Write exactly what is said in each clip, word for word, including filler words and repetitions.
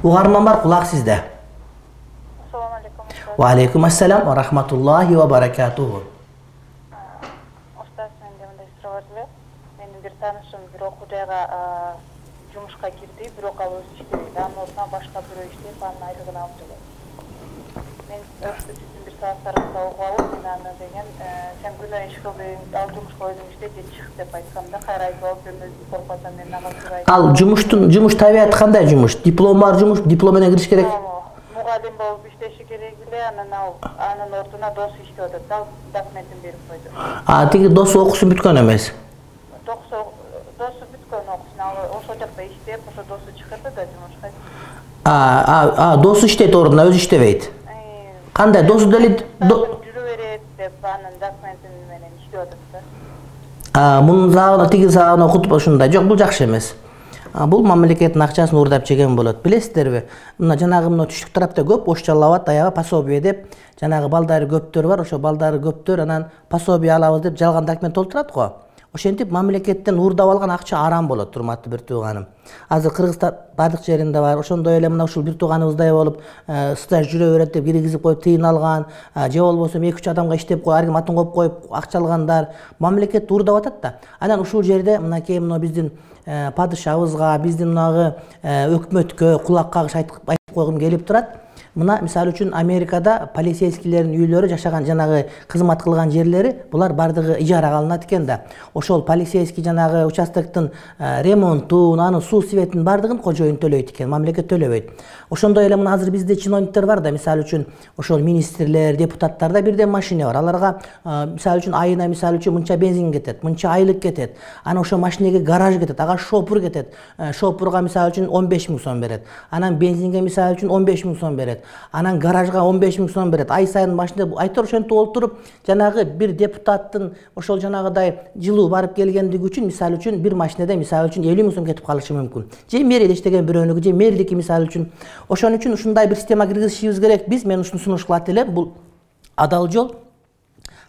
Угарман бар, кулак сизде. Assalamu alaikum. Wa alaikum assalam wa rahmatullahi wa barakatuh. Ustaz, men de мындай суроо бар эле. Менин бир таанышым бир окуу жайга жумушка кирди, бирок ал өзү иштебейт. Анын ордуна башка бирөө иштеп, анын айлыгын алып жүрөт. Мен сиздин бир сааттарыңызда угуп алып, мен аны деген сен күнөө иш кылдың, ал жумушка өзүң иштеп же чык деп айтканда, кайра айтып алып, мен өзүм болуп атам, мен ага сурайт. Ал жумуштун жумуш табияты кандай жумуш? Диплом бар жумуш, диплом менен кириш керек. Мугалим болуп иштеши керек эле, анан ал анын ордуна досу иштеп атат. Ал документин берип койду. А, тиги досу окуусун бүткөн эмес. Досу досу бүткөн окуусун, ал ошол жакта иштеп, ошо досу чыгат да жумушка. А, а, досу иштейт ордуна, өзү иштебейт. Кандай досу деле жүрө берет деп анын документин менен иштеп атат да. А, мунун загына тиги загына окутуп ушундай. Жок, бул жакшы эмес. Бул мамлекеттин акчасын уурдап жеген болот. Билесиздерби? Мына жанагы мына түштүк тарапта көп ош алабат, аябы пособие деп, жанагы балдары көптөр бар, ошо балдары көптөр анан пособие алабыз деп жалган документ толтурат го. Ошентип мамлекеттен уурдап алган акча арам болот, урматтуу бир тууганым. Азыр Кыргызстан бардык жеринде бар. Ошондой эле мына ушул бир тууганыбыздай болуп, стаж жүрө берет деп киргизип коюп тыйын алган, же болбосо эки үч адамга иштеп коюп, ар ким атын коюп коюп акча алгандар мамлекет уурдап атат да. Анан ушул жерде мынакей мына биздин падышабызга, биздин мынагы өкмөткө кулак кагыш айтып койгум келип турат. Мына мисалы үчүн Америкада полицейскилердин үйлөрү жашаган жанагы кызмат кылган жерлери булар бардыгы ижарага алынат экен да. Ошол полицейский жанагы участоктун ремонтун, анын суу светин бардыгын кожоюн төлөйт экен, мамлекет төлөбөйт. Ошондой эле мына азыр бизде чиновниктер бар да, мисалы үчүн ошол министрлер, депутаттарда бирден машина бар. Аларга мисалы үчүн айына мисалы үчүн мынча бензин кетет, мынча айлык кетет. Анан ошо машинеге гараж кетет, ага шопур кетет. Шопурга мисалы үчүн он беш миң сом берет. Анан бензинге мисалы үчүн он беш миң сом берет. Анан гаражга он беш миң сом берет. Ай сайын машина айтор ошентип олтуруп, жанагы бир депутаттын ошол жанагыдай жылуу барып келгендиги үчүн мисалы үчүн бир машинада мисалы үчүн элүү миң сом кетип калышы мүмкүн. Же мэриде иштеген бирөөнүкү, же мэрдики мисалы үчүн. Ошон үчүн ушундай бир система киргизишибиз керек. Биз мен ушуну сунуш кылат элем. Бул адал жол.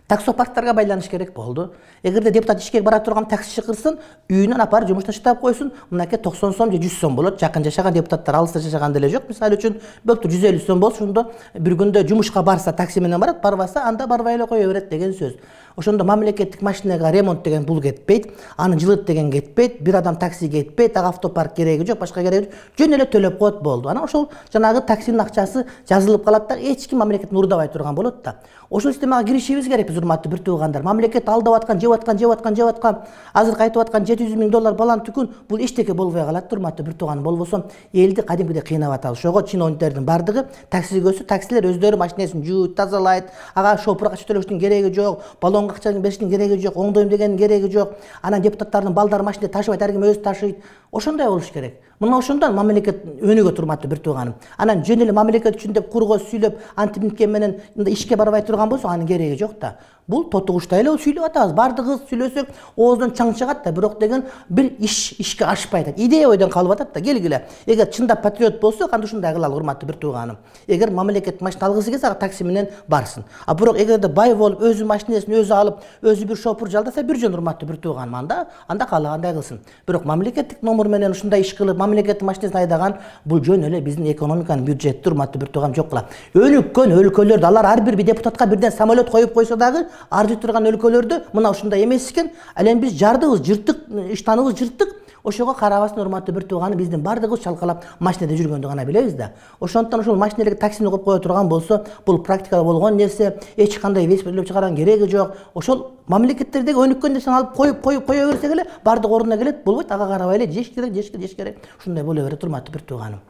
Таксопарктарга байланыш керек болду. Эгерде депутат ишке бара турган таксичи кырсын, үйүнөн апарып жумуштан таштап койсун, мынакей токсон сом же жүз сом болот. Жакын жашаган депутаттар алыста жашаган деле жок. Мисалы үчүн бөлтүр жүз элүү сом болсо, ошондо бир күндө жумушка барса такси менен барат, барбаса анда барбай эле кое берет деген сөз. Ошондо мамлекеттик машинага ремонт деген бул кетпейт, аны жылыт деген кетпейт, бир адам такси кетпейт, ага автопарк кереги жок, башка кереги жок. Жөн эле төлөп коет болду. Анан ошол жанагы таксинин акчасы жазылып калат да, эч ким мамлекеттен уурдабай турган болот да. Ошол системага киришибиз керек биз, урматтуу бир туугандар. Мамлекет алдап аткан, жеп аткан, жеп аткан, жеп аткан, азыр кайтып аткан жети жүз миң доллар балан түкүн бул эчтеке болбой калат, урматтуу бир тууганым. Болбосо элди кадимкидей кыйнап атабыз. Ошого чиновниктердин бардыгы таксиге өсү, таксилер өздөрү машинесин жууйт, тазалайт, ага шопурга акча төлөштүн кереги жок, баллонго акча бериштин кереги жок, оңдойм дегендин кереги жок. Анан депутаттардын балдары машинеде ташыбайт, ар ким өзү ташыйт. Ошондой болуш керек. Мына ошондон мамлекет өнүгөт, урматтуу бир тууганым. Анан жөн эле мамлекет үчүн деп курго сүйлөп, антип мынткен менен ишке барбай турган болсо, анын кереги жок да. Бул тотугучтай эле сүйлөп атабыз. Бардыгыбыз сүйлөсөк, оозунан чаң чыгат да, бирок деген бир иш ишке ашпайт. Идея ойдон калып атат да. Келгиле. Эгер чындап патриот болсо, кантип ушундай кылалы, урматтуу бир тууганым. Эгер мамлекет машина алгысы келсе, ага такси менен барсын. А бирок эгерде бай болуп, өзү машинесин өзү алып, өзү бир шопур жалдаса, бир жөн, урматтуу бир тууганым. Анда анда каалагандай кылсын. Бирок мамлекеттик номер менен ушундай иш кылып, мамлекеттин машинесин айдаган бул жөн эле биздин экономиканын бюджетти, урматтуу бир тууганым, жок кылат. Өнүккөн өлкөлөрдө алар ар бир депутатка бирден самолет коюп койсо дагы, ар жер турган өлкөлөрдө мына ушундай эмес экен. Ал эми биз жардыбыз, жырттык, иштаныбыз жырттык. Ошого карабастан, урматтуу бир тууганым, биздин бардыгыбыз чалкалап машинеде жүргөндү гана билебиз да. Ошондуктан ошол машинелерге таксини коюп кое турган болсо, бул практикада болгон нерсе, эч кандай велосипед чыгарган кереги жок. Ошол мамлекеттердеги өнүккөн нерсени алып коюп коюп кое берсек эле бардык ордуна келет, болбойт. Ага карабай эле жеш керек, жеш керек, жеш керек. Ушундай боло берет, урматтуу бир тууганым.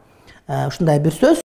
Ушундай бир сөз.